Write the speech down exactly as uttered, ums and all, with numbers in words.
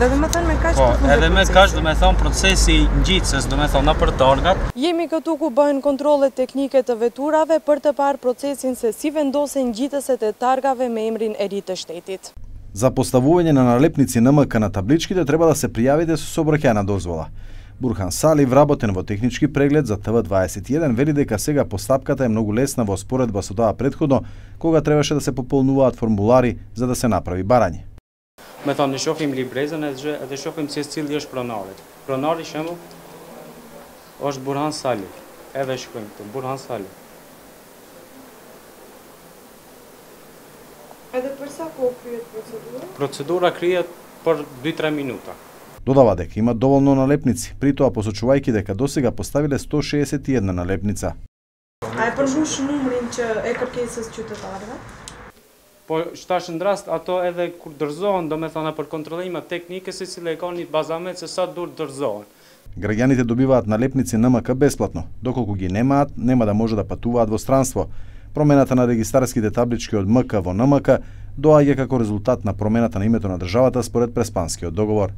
Dhe do të thënë me kaq Po, të fundit. edhe me kaq do të thonë procesi ngjitses, do të thonë nëpër torgat. Jemi këtu ku bëhen kontrollet teknike të veturave për të parë procesin se si vendosen ngjitëset e targave me emrin e ri të shtetit. За поставување на налепници Н М К на табличките треба да се пријавите со сообраќајна дозвола. Бурхан Сали, вработен во технички преглед за Т В дваесет и еден, вели дека сега постапката е многу лесна во споредба со тоа претходно, кога требаше да се пополнуваат формулари за да се направи барање. Me thonë, ne shohim librezën edhe shohim se cili është pronari. Pronari shembull është Burhan Sali. Edhe shkruajmë këtu Burhan Sali. Edhe për sa kohë kryhet procedura? Procedura kryhet për dy tre minuta. Додава дека има доволно налепници, при тоа посочувајќи дека досега поставиле сто шеесет и една налепница. A e përmbush numrin që e kërkesës qytetarëve? Po shtash në rast ato edhe kur dorëzohen, domethënë për kontrollime teknike se si e kanë një bazamet se sa dur dorëzohen. Граѓаните добиваат налепници Н М К бесплатно, доколку ги немаат, нема да може да патуваат во странство. Промената на регистарските таблички од М К во Н М К доаѓа како резултат на промената на името на државата според Преспанскиот договор.